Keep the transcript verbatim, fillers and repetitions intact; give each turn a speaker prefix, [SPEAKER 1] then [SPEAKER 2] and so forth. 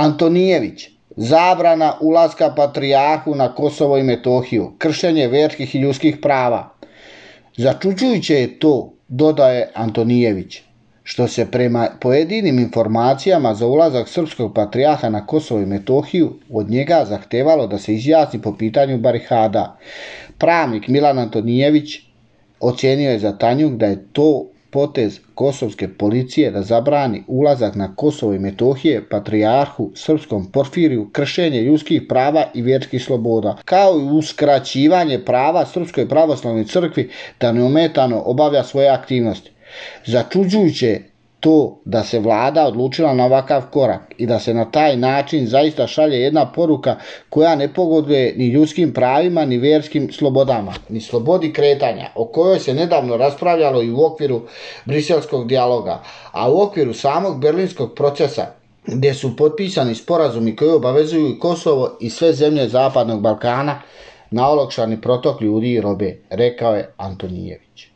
[SPEAKER 1] Antonijević, zabrana ulaska patrijarhu na Kosovo i Metohiju, kršenje vjerskih i ljudskih prava. Začuđujuće je to, dodaje Antonijević, što se prema pojedinim informacijama za ulazak srpskog patrijarha na Kosovo i Metohiju od njega zahtevalo da se izjasni po pitanju barikada. Pravnik Milan Antonijević ocijenio je za Tanjug da je to potez kosovske policije da zabrani ulazak na Kosovo i Metohije patrijarhu srpskom Porfiriju, kršenje ljudskih prava i vjerskih sloboda, kao i uskraćivanje prava Srpskoj pravoslavnoj crkvi da neometano obavlja svoje aktivnosti. Začuđujuće je to da se vlada odlučila na ovakav korak i da se na taj način zaista šalje jedna poruka koja ne pogoduje ni ljudskim pravima, ni vjerskim slobodama, ni slobodi kretanja, o kojoj se nedavno raspravljalo i u okviru briselskog dijaloga, a u okviru samog berlinskog procesa, gdje su potpisani sporazumi koji obavezuju i Kosovo i sve zemlje Zapadnog Balkana na olakšani protok ljudi i robe, rekao je Antonijević.